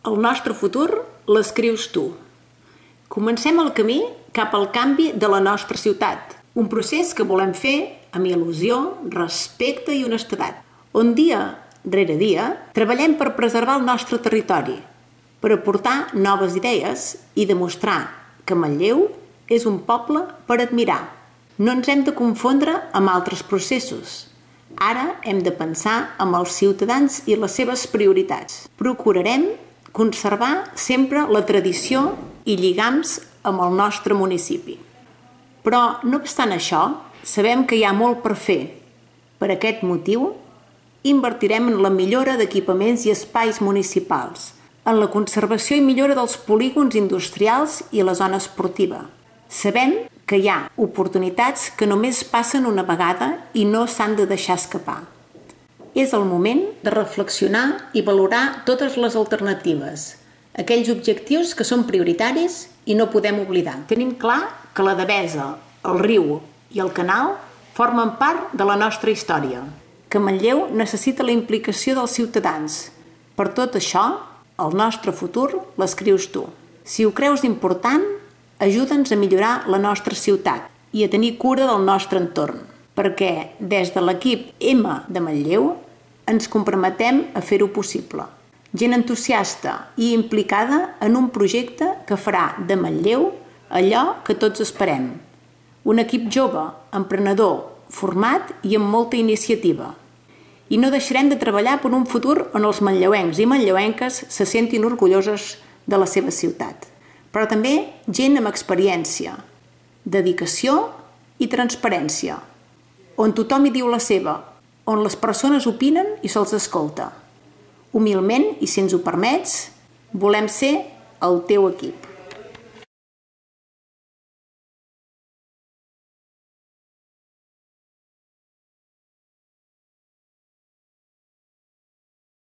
El nostre futur l'escrius tu. Comencem el camí cap al canvi de la nostra ciutat, un procés que volem fer amb il·lusió, respecte i honestedat, on dia rere dia treballem per preservar el nostre territori, per aportar noves idees i demostrar que Manlleu és un poble per admirar. No ens hem de confondre amb altres processos. Ara hem de pensar amb els ciutadans i les seves prioritats. Procurarem conservar sempre la tradició i lligams amb el nostre municipi. Però, no obstant això, sabem que hi ha molt per fer. Per aquest motiu, invertirem en la millora d'equipaments i espais municipals, en la conservació i millora dels polígons industrials i la zona esportiva. Sabem que hi ha oportunitats que només passen una vegada i no s'han de deixar escapar. És el moment de reflexionar i valorar totes les alternatives, aquells objectius que són prioritaris i no podem oblidar. Tenim clar que la Devesa, el riu i el canal formen part de la nostra història, que Manlleu necessita la implicació dels ciutadans. Per tot això, el nostre futur l'escrius tu. Si ho creus important, ajuda'ns a millorar la nostra ciutat i a tenir cura del nostre entorn, perquè des de l'equip M de Manlleu ens comprometem a fer-ho possible. Gent entusiasta i implicada en un projecte que farà de Manlleu allò que tots esperem. Un equip jove, emprenedor, format i amb molta iniciativa. I no deixarem de treballar per un futur on els manlleuencs i manlleuenques se sentin orgullosos de la seva ciutat. Però també gent amb experiència, dedicació i transparència, on tothom hi diu la seva, on les persones opinen i se'ls escolta. Humilment, i si ens ho permets, volem ser el teu equip.